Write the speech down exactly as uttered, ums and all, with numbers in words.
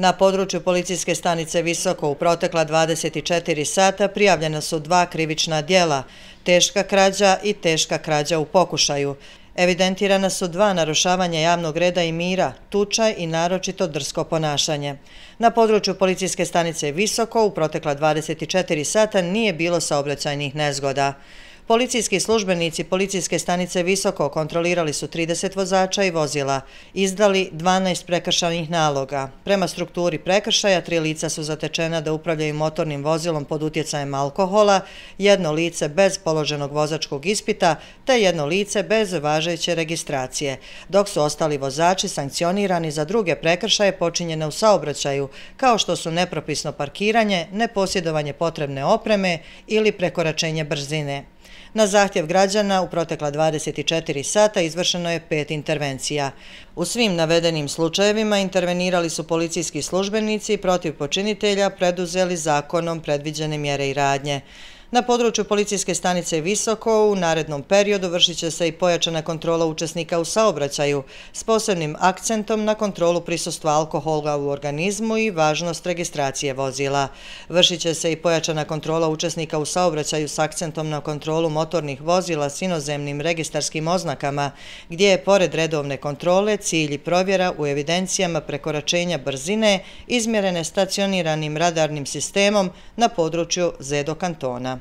Na području policijske stanice Visoko u protekla dvadeset četiri sata prijavljena su dva krivična djela, teška krađa i teška krađa u pokušaju. Evidentirana su dva narušavanja javnog reda i mira, tuča i naročito drsko ponašanje. Na području policijske stanice Visoko u protekla dvadeset četiri sata nije bilo saobraćajnih nezgoda. Policijski službenici policijske stanice Visoko kontrolirali su trideset vozača i vozila, izdali dvanaest prekršajnih naloga. Prema strukturi prekršaja, tri lica su zatečena da upravljaju motornim vozilom pod utjecajem alkohola, jedno lice bez položenog vozačkog ispita te jedno lice bez važeće registracije, dok su ostali vozači sankcionirani za druge prekršaje počinjene u saobraćaju, kao što su nepropisno parkiranje, neposjedovanje potrebne opreme ili prekoračenje brzine. Na zahtjev građana u protekla dvadeset četiri sata izvršeno je pet intervencija. U svim navedenim slučajevima intervenirali su policijski službenici i protiv počinitelja preduzeli zakonom predviđene mjere i radnje. Na području policijske stanice Visoko u narednom periodu vršit će se i pojačana kontrola učesnika u saobraćaju s posebnim akcentom na kontrolu prisustva alkohola u organizmu i važnost registracije vozila. Vršit će se i pojačana kontrola učesnika u saobraćaju s akcentom na kontrolu motornih vozila s inozemnim registarskim oznakama, gdje je pored redovne kontrole cilj i provjera u evidencijama prekoračenja brzine izmjerene stacioniranim radarnim sistemom na području Zedo kantona.